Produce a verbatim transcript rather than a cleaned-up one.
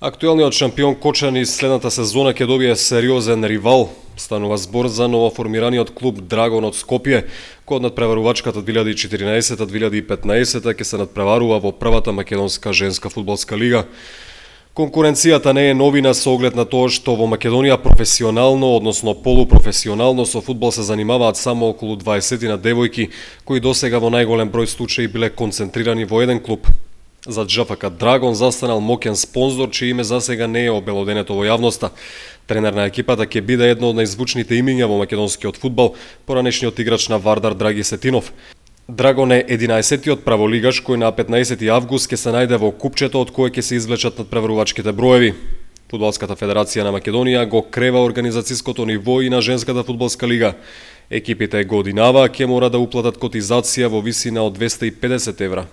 Актуелниот шампион Кочани следната сезона ќе добие сериозен ривал. Станува збор за новоформираниот клуб Драгон од Скопје, кој од надпреварувачката две илјади и четиринаесета - две илјади и петнаесета ќе се надпреварува во првата македонска женска фудбалска лига. Конкуренцијата не е новина со оглед на тоа што во Македонија професионално, односно полупрофесионално со фудбал се занимаваат само околу дваесет девојки, кои досега во најголем број случаи биле концентрирани во еден клуб. За ДЖФК Драгон застанал моќен спонзор, чие име засега не е обелоденето во јавноста. Тренер на екипата ќе биде едно од најзвучните имиња во македонскиот фудбал, поранешниот играч на Вардар Драги Сетинов. Драгон е единаесеттиот праволигаш кој на петнаесети август ќе се најде во купчето од кое ќе се извлечат надпреварувачките броеви. Фудбалската федерација на Македонија го крева организацијското ниво и на женската фудбалска лига. Екипите годинава ќе мора да уплатат котизација во висина од двесте и педесет евра.